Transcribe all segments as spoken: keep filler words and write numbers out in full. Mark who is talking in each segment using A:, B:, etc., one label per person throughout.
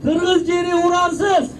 A: Kırgız jeri uransız.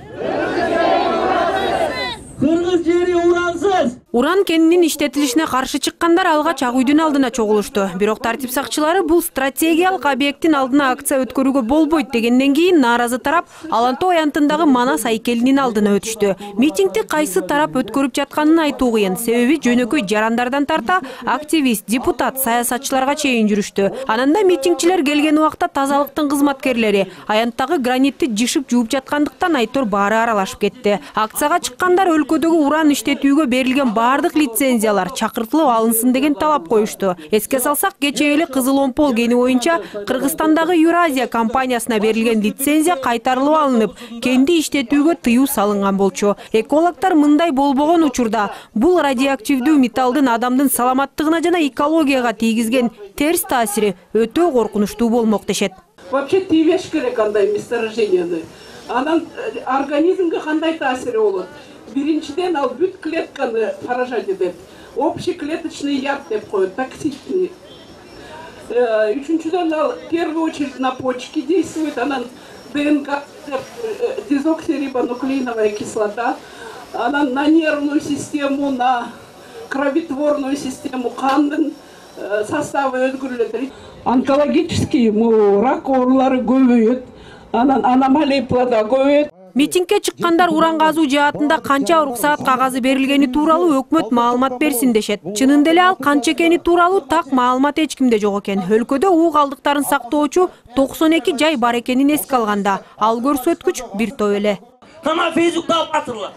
A: Kırgız jeri uransız.
B: Уран кенинин иштетилишине каршы чыккандар алгач ак үйдүн алдына чогулушту. Бирок тартип сакчылары бул стратегиялык объекттин алдына акция өткөрүүгө болбойт дегенден кийин нааразы тарап Алан тоо аянтындагы Манас айкелинин алдына өтүштү. Митингди кайсы тарап өткөрүп жатканын айтуу кыйын. Себеби жөнөкөй жарандардан тарта активист, депутат, саясатчыларга чейин жүрүштү. Ананда митингчилер келген убакта тазалыктын кызматкерлери аянттагы гранитти жышып жууп жаткандыктан айтор баары аралашып кетти. Акцияга чыккандар өлкөдөгү уран иштетүүгө берилген бардык лицензиялар чакыртылып алынсын деген талап коюшту. Эске салсак, кечээ эле Кызыл Омпол кени боюнча Кыргызстандагы Юразия компаниясына берилген лицензия кайтарылып алынып, кенди иштетүүгө тыюу салынган болчу. Экологдор мындай болбогон учурда бул радиоактивдүү металлдын адамдын саламаттыгына жана экологияга тийгизген терс таасири өтө коркунучтуу болмок дешет.
C: Вообще тийбеш керек андай месторожденияны. Анан организмге кандай таасири болот? Биринчиден ал бүт клетканы поражать этет. Общеклеточный яд деп коет, токсичный. Үчүнчүдөн ал в первую очередь на почки действует, анан ДНК, дезоксирибонуклеиновая кислота, анан на нервную систему, на кровотворную систему, кандын составы өзгөрүлөт. Онкологический рак оорулары көбөйөт, анан аномалия плода көбөйөт.
B: Митингге чыккандар уран казуу жаатында канча уруксаат кагазы берилгени тууралуу өкмөт маалымат берсин дешет. Чынында эле ал канча экени тууралуу так маалымат эч кимде жок экен. Өлкөдө уу калдыктарын сактоочу токсон эки жай бар экенин эске алганда, ал көрсөткүч бир топ эле.
A: Кана Фейсбукта алып атырлар.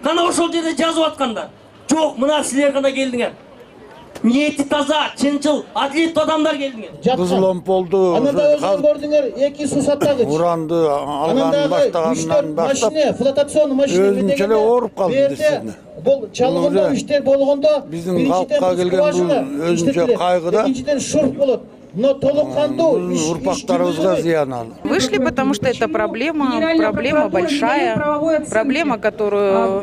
A: Кана ошол жерде жазып аткандар. Жок, мына силер гана келдиңер. Ниети таза, чынчыл, адилеттүү адамдар келдиңер.
D: Кызыл Омполду
E: ананда өзүң көрдүңөр, эки сусаттагыч.
D: Уранды алган баштагандан баштап
E: флотационный машина
D: өзүнчө эле ооруп калды десине.
E: Бул чалгындоо иштер болгондо
D: биздин калкка келген бул өзүнчө кайгы да.
E: Экинчиден шурт болот. Но толоккандуу
D: урпактарыбызга зыян ал.
F: Вышли, потому что это проблема, проблема большая, проблема, которую,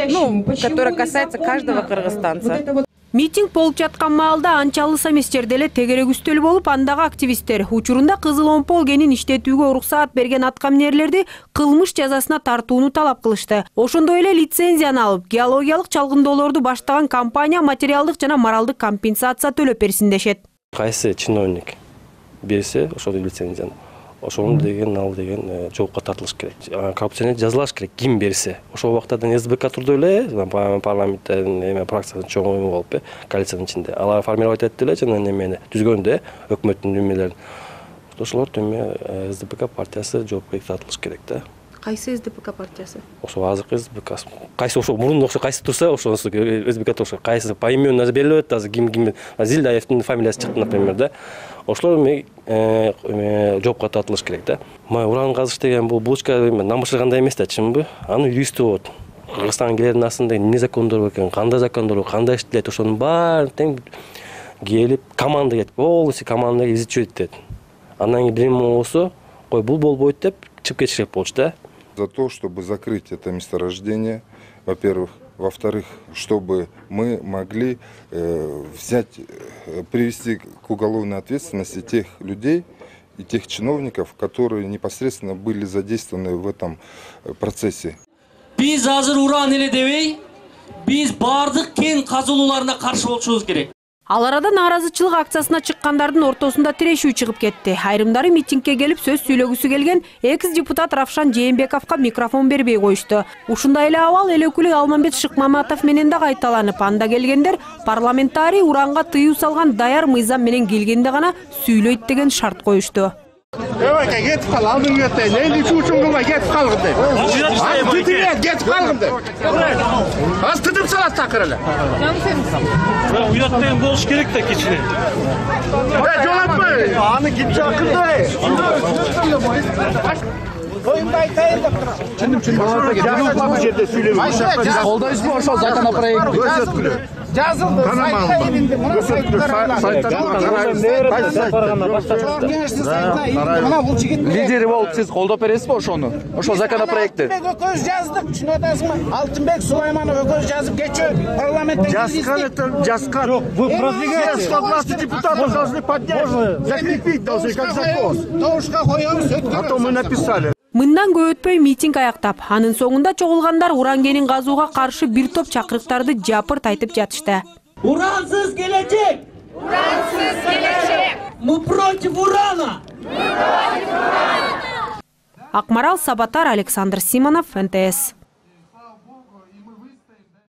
F: ну, которая касается каждого кыргызстанца.
B: Митинг болуп жаткан маалда анчалыс эмес жерде эле тегерек үстөл болуп, андагы активисттер учурунда Кызыл Омпол кенин иштетүүгө уруксаат берген аткаминерлерди кылмыш жазасына тартууну талап кылышты. Ошондой эле лицензияны алып, геологиялык чалгындоолорду баштаган компания материалдык жана моралдык компенсация төлөп берсин дешет.
G: Кайсы чиновник берсе ошол лицензияны, ошону деген ал деген жоопко тартылыш керек. Коррупцияны жазылаш керек, ким берсе. Ошол убактардан СБК турду эле, парламенттин эме фракциясынын чоңуйу болуп, коалициянын ичинде. Алар формировать этти эле жана немени түзгөндө өкмөттүн немелерин. Ошолор төмө СДПК партиясы жоопко тартылыш керек да.
B: Кайсы СДПК партиясы?
G: Ошо азыркы СДПК. Кайсы ошо мурун окшо кайсы турса, ошонусу СДПК окшо. Кайсы поименно наза берилет, азыр ким ким Зилдаевдин фамилиясы чыкты, например, да. Ошолор жоопко тартылыш керек да. Май уран казыш деген бул булочка намышыргандай эмес да, чынбы? Анын юристи болот. Кыргызстанга келердин астында эмне закондор бар экен, кандай закондор, кандай иштелет, ошонун баарын тең келип команда кетип, полностью команда изучить этет. Андан кийин бир эме болсо, кой бул болбойт деп чыгып кетиш керек болчу да.
H: За то, чтобы закрыть это месторождение, во-первых. Во-вторых, чтобы мы могли э, взять, э, привести к уголовной ответственности тех людей и тех чиновников, которые непосредственно были задействованы в этом процессе.
A: Биз азыр уран эле дебей, биз бардык кен казылууларына каршы болушубуз керек.
B: Ал арада нааразычылык акциясына чыккандардын ортосунда тирешүү чыгып кетти. Айрымдары митингке келип сөз сүйлөгүсү келген экс-депутат Равшан Жээнбековго микрофон бербей коюшту. Ушундай эле абал эл өкүлү Алмамбет Шыкмаматов менен да кайталанып, анда келгендер парламентарий уранга тыюу салган даяр мыйзам менен келгенде гана сүйлөйт деген шарт коюшту.
I: Evet, git kal, aldın götür. Neyli çuçunğuma git kalgın de. Az tütüye git kalgın de. Az tütüp salat takır hele.
J: Ben uyatmayın boluş gerek de keçine.
I: Ben jolapma. Anı git çakın da. Koyun baytayın da. Çındım çındım. Bu yerde söylemiyorum.
E: Kolda ismi olsa zaten proyekti. Жазылды, сайтта илинди, мына сайттар.
K: Лидери болуп сиз колдоп бересизби ошону? Ошол законопроектти.
E: Экөөбүз жаздык, түшүнүп атасызбы? Алтынбек Сулайманов экөөбүз жазып кетчү. Парламентте
K: Жазган это, жазган. Вы продвигаете. сто двадцать депутатов должны поднять. Закрепить должны как закон.
E: Тоушка коёбуз,
K: А то мы написали.
B: Мындан көп өтпөй митинг аяктап, анын соңунда чогулгандар уран кенин казууга каршы бир топ чакырыктарды жапырт айтып жатышты.
A: Урансыз келечек! Урансыз келечек! Мы против урана! Мы против урана!
B: Акмарал Сабатар, Александр Симонов, эн тэ эс.